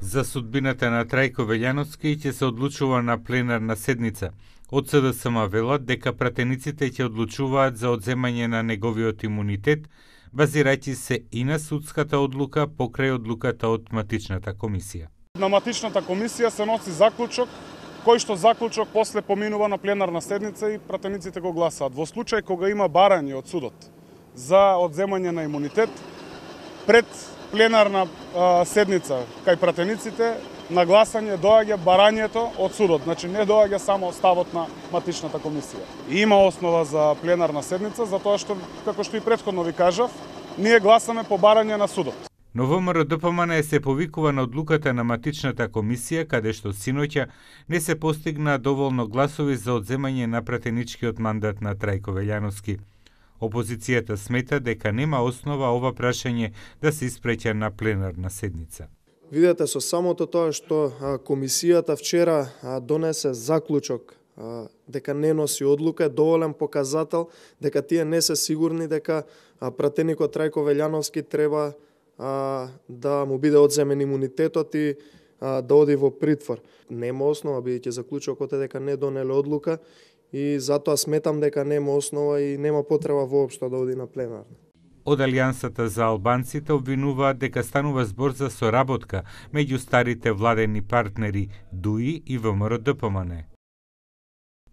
За судбината на Трајко Велјановски ќе се одлучува на пленарна седница. Од СДСМ велат дека пратениците ќе одлучуваат за одземање на неговиот имунитет, базирајќи се и на судската одлука покрај одлуката од матичната комисија. На матичната комисија се носи заклучок, кој што заклучок после поминува на пленарна седница и пратениците го гласаат. Во случај кога има барање од судот за одземање на имунитет, пред пленарна седница кај пратениците на гласање доаѓа барањето од судот, значи не доаѓа само ставот на матичната комисија. И има основа за пленарна седница, затоа што, како што и претходно ви кажав, ние гласаме по барање на судот. Но ВМРО-ДПМН се повикува на одлуката на матичната комисија, каде што синоќа не се постигна доволно гласови за одземање на пратеничкиот мандат на Трајко Велјановски. Опозицијата смета дека нема основа ова прашање да се испреќа на пленарна седница. Видете, со самото тоа што комисијата вчера донесе заклучок дека не носи одлука, е доволен показател дека тие не се сигурни дека пратеникот Трајко Велјановски треба да му биде одземен имунитетот и да оди во притвор. Нема основа, бидејќи заклучокот е дека не донеле одлука и затоа сметам дека нема основа и нема потреба воопшто да оди на пленарна. Од Алијансата за албанците обвинуваат дека станува збор за соработка меѓу старите владени партнери ДУИ и ВМРО-ДПМН.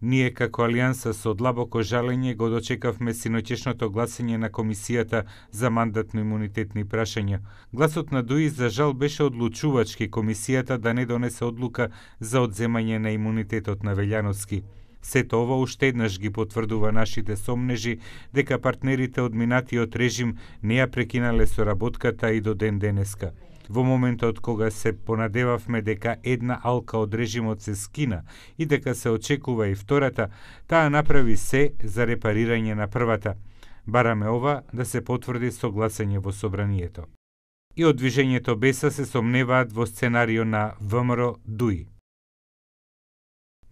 Ние како Алијанса со длабоко жалење го дочекавме синоќешното гласање на Комисијата за мандатно-имунитетни прашања. Гласот на ДУИ за жал беше одлучувачки комисијата да не донесе одлука за одземање на имунитетот на Велјановски. Сето ова уште еднаш ги потврдува нашите сомнежи дека партнерите од минатиот режим не ја прекинале соработката и до ден денеска. Во моментот кога се понадевавме дека една алка од режимот се скина и дека се очекува и втората, таа направи се за репарирање на првата. Бараме ова да се потврди со гласање во собранието. И од движењето Беса се сомневаат во сценарио на ВМРО-ДУИ.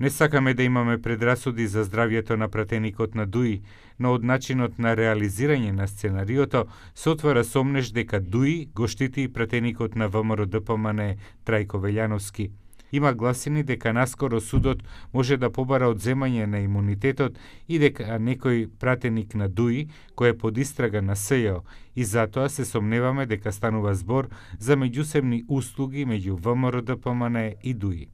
Не сакаме да имаме предрасуди за здравјето на пратеникот на ДУИ, но од начинот на реализирање на сценариото се отвара сомнеж дека ДУИ го штити и пратеникот на ВМРО-ДПМН Трајко Велјановски. Има гласини дека наскоро судот може да побара одземање на имунитетот и дека некој пратеник на ДУИ кој е под истрага на СЈО и затоа се сомневаме дека станува збор за меѓусебни услуги меѓу ВМРО-ДПМН и ДУИ.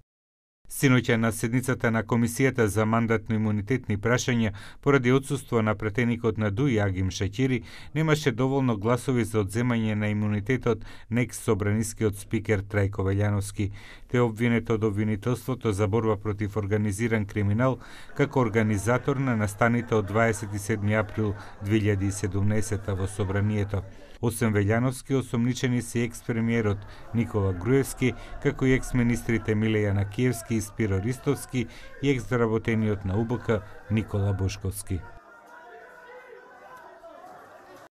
Синоќа на седницата на Комисијата за мандатно-имунитетни прашања, поради отсуство на пратеникот на ДУИ Агим Шаќири, немаше доволно гласови за одземање на имунитетот на екс-собранискиот спикер Трајко Велјановски. Те обвинет од обвинителството за борба против организиран криминал како организатор на настаните од 27 април 2017 во собранието. Освен Велјановски, осомничени се екс-премиерот Никола Груевски, како и екс-министрите Милеја Накиевски и Спиро Ристовски и екс-заработениот на УБК Никола Бошковски.